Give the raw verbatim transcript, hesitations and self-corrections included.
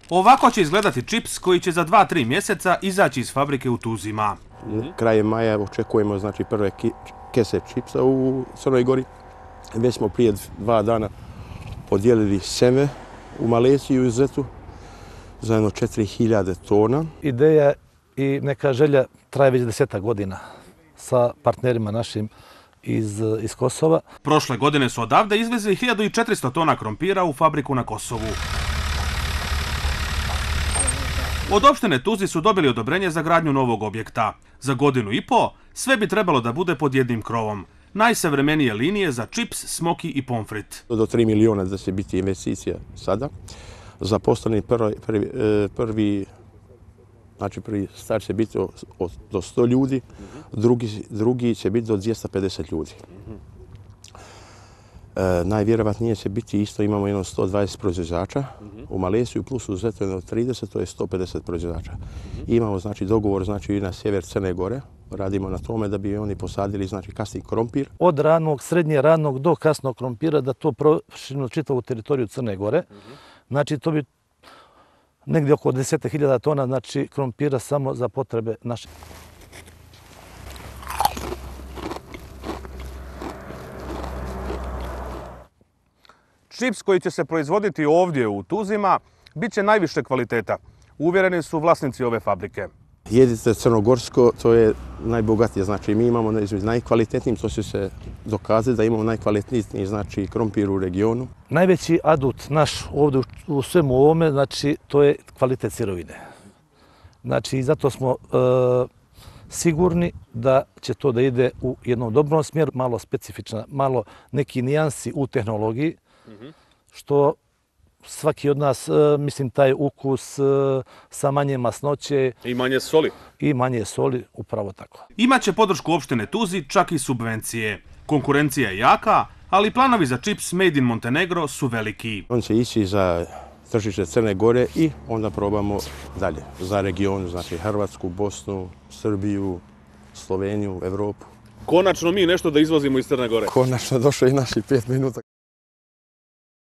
Ovako će izgledati čips koji će za dva tri mjeseca izaći iz fabrike u Tuzima. Krajem maja očekujemo znači, prve kese čipsa u Crnoj Gori. Već smo prije dva dana podijelili seme u Maleziju i Zetu za jedno četiri hiljade tona. Ideja i neka želja traje već desetak godina sa partnerima našim iz, iz Kosova. Prošle godine su odavde izvezli hiljadu četiristo tona krompira u fabriku na Kosovu. Od opštine Tuzi su dobili odobrenje za gradnju novog objekta. Za godinu i po sve bi trebalo da bude pod jednim krovom. Najsavremenije linije za čips, smoki i pomfrit. Do tri miliona da će biti investicija sada. Zaposleni prvi, prvi, prvi, znači prvi start će biti do sto ljudi, drugi, drugi će biti do dvjesto pedeset ljudi. E, najvjerovatnije će biti isto, imamo jedno sto dvadeset proizvođača u Maleziju plus u Zetu jedno trideset, to je sto pedeset proizvođača. Imamo znači dogovor znači i na sjever Crne Gore, radimo na tome da bi oni posadili znači kasni krompir. Od ranog, srednje ranog do kasnog krompira da to proširimo čitavu teritoriju Crne Gore. Znači to bi negdje oko deset hiljada tona znači krompira samo za potrebe naše. Čips koji će se proizvoditi ovdje u Tuzima bit će najviše kvaliteta. Uvjereni su vlasnici ove fabrike. Jedite crnogorsko, to je najbogatije. Znači mi imamo najkvalitetnijim, to će se dokazati da imamo najkvalitetniji znači krompir u regionu. Najveći adut naš ovdje u svemu ovome, znači to je kvalitet sirovine. Znači zato smo e, sigurni da će to da ide u jednom dobrom smjeru, malo specifična, malo neki nijansi u tehnologiji, što svaki od nas, mislim, taj ukus sa manje masnoće. I manje soli. I manje soli, upravo tako. Imaće podršku opštine Tuzi, čak i subvencije. Konkurencija je jaka, ali planovi za čips Made in Montenegro su veliki. On će ići za tržište Crne Gore i onda probamo dalje, za region, znači Hrvatsku, Bosnu, Srbiju, Sloveniju, Evropu. Konačno mi nešto da izvozimo iz Crne Gore. Konačno došlo i naši pet minuta.